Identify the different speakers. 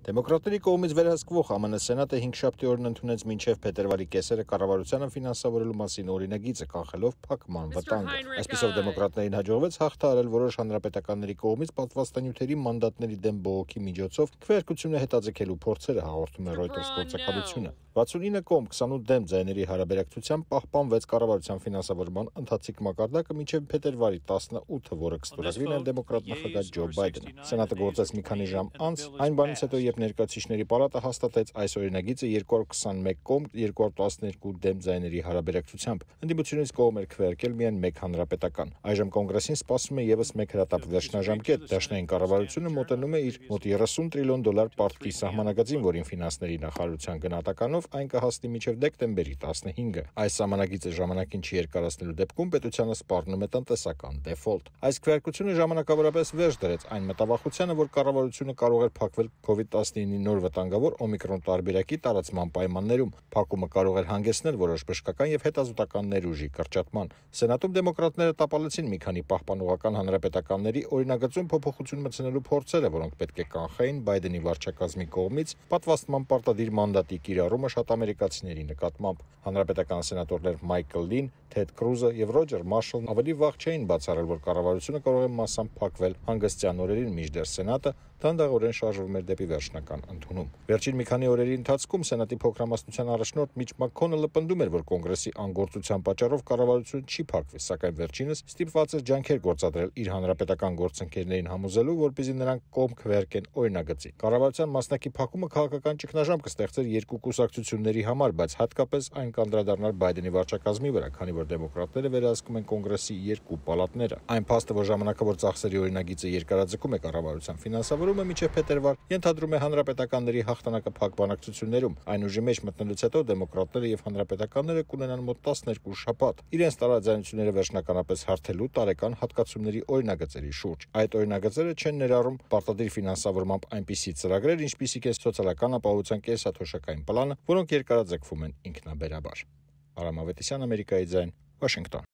Speaker 1: Դեմոկրատների կողմից վերահսկվող ԱՄՆ Սենատը 5-շաբթի օրն ընդունեց մինչև փետրվարի կեսերը կառավարությանը ֆինանսավորելու մասին օրինագիծը, կանխելով փակման վտանգը։ Այսպիսով դեմոկրատներին հաջողվեց հաղթահարել որոշ հանրապետականների կողմից պատվաստանյութերի մանդատների դեմ բողոքի միջոցով քվեարկությունը հետաձգելու փորձերը, հաղորդում է Reuters գործակալությունը։ 69 կողմ 28 դեմ ձայների հարաբերակցությամբ պահպանվեց կառավարության ֆինանսավորման ընթացիկ մակարդակը մինչև փետրվարի 18-ը, որը կստորագրի նաև դեմոկրատ նախագահ Ջո Բայդենը։ Սենատը գործեց մի քանի ժամ անց այն բանից հետո, երբ Ներկայացուցիչների պալատը հաստատեց այս օրինագիծը 221 կողմ 212 դեմ ձայների հարաբերակցությամբ։ Ընդդիմությունից կողմ էր քվեարկել միայն մեկ հանրապետական։ Այժմ կոնգրեսին սպասվում է եւս մեկ հրատապ վերջնաժամկետ։ Դաշնային կառավարությունը մոտենում է իր մոտ $30 տրիլիոն պարտքի սահմանագծին, որին ֆինանսների նախարարության գնահատականով այն կհասնի մինչև դեկտեմբերի 15-ը։ Այս սահմանագիծը ժամանակին չի երկարացնելու դեպքում պետությանը սպառնում է տնտեսական դեֆոլտ։ Այս քվեարկությունը ժամանակավորապես վերջ դրեց այն մտավախությանը, որ կառավարությունը կարող էր փակվել COVID-19-ի նոր վտանգավոր օմիկրոն տարբերակի տարածման պայմաններում։ Փակումը կարող էր հանգեցնել որոշ բժշկական եւ հետազոտական ներուժի կրճատման։ Սենատում դեմոկրատները տապալեցին մի քանի պահպանողական հանրապետականների օրինագծում փոփոխություն մտցնելու փորձերը, որոնք պետք է կանխեին Բայդենի վարչակազմի կողմից պատվաստման պարտադիր մանդատի կիրառումը շատ ամերիկացիների նկատմամբ։ Հանրապետական սենատորներ Մայքլ Լին, Թեդ Քրուզը եւ Ռոջեր Մարշալն ավելի վաղ չէին բացառել, որ կառավարությունը կարող է մասամբ փակվել հանգստյան օրերին, մինչդեռ Սենատը դանդաղորեն շարժվում էր դեպի վերջնական ընդունում։ Վերջին մի քանի օրերի ընթացքում Սենատի փոքրամասնության առաջնորդ Միչ Մաքքոնելը պնդում էր, որ կոնգրեսի անգործության պատճառով կառավարությունը չի փակվի, սակայն վերջինս ստիպված էր ջանքեր գործադրել իր հանրապետական գործընկերներին համոզելու, որպեսզի նրանք կողմ քվեարկեն օրինագծի։ Կառավարության մասնակի փակումը քաղաքական ճգնաժամ կստեղծեր երկու կուսակցությունների համար, բայց հատկապես այն կանդրադառնար Բայդենի վարչակազմի վրա, քանի որ դեմոկրատները վերահսկում են կոնգրեսի երկու պալատները։ Այն փաստը, որ ժամանակավոր ծախսերի օրինագիծը երկարաձգում է կառավարության ֆինանսավորումը մինչև փետրվար, ենթադրում է հանրապետականների հաղթանակը փակ բանակցություններում։ Այն ուժի մեջ մտնելուց հետո դեմոկրատները եւ հանրապետականները կունենան մոտ 12 շաբաթ իրենց տարաձայնությունները վերջնականապես հարթելու տարեկան հատկացումների օրինագծերի շուրջ։ Այդ օրինագծերը չեն ներառում պարտադիր ֆինանսավորմամբ այնպիսի ծրագրեր, ինչպիսիք է սոցիալական ապահովության կենսաթոշակային պլանը, որոնք երկարաձգվում են ինքնաբերաբար։ Արամ Ավետիսյան, Ամերիկայի ձայն, Վաշինգտոն։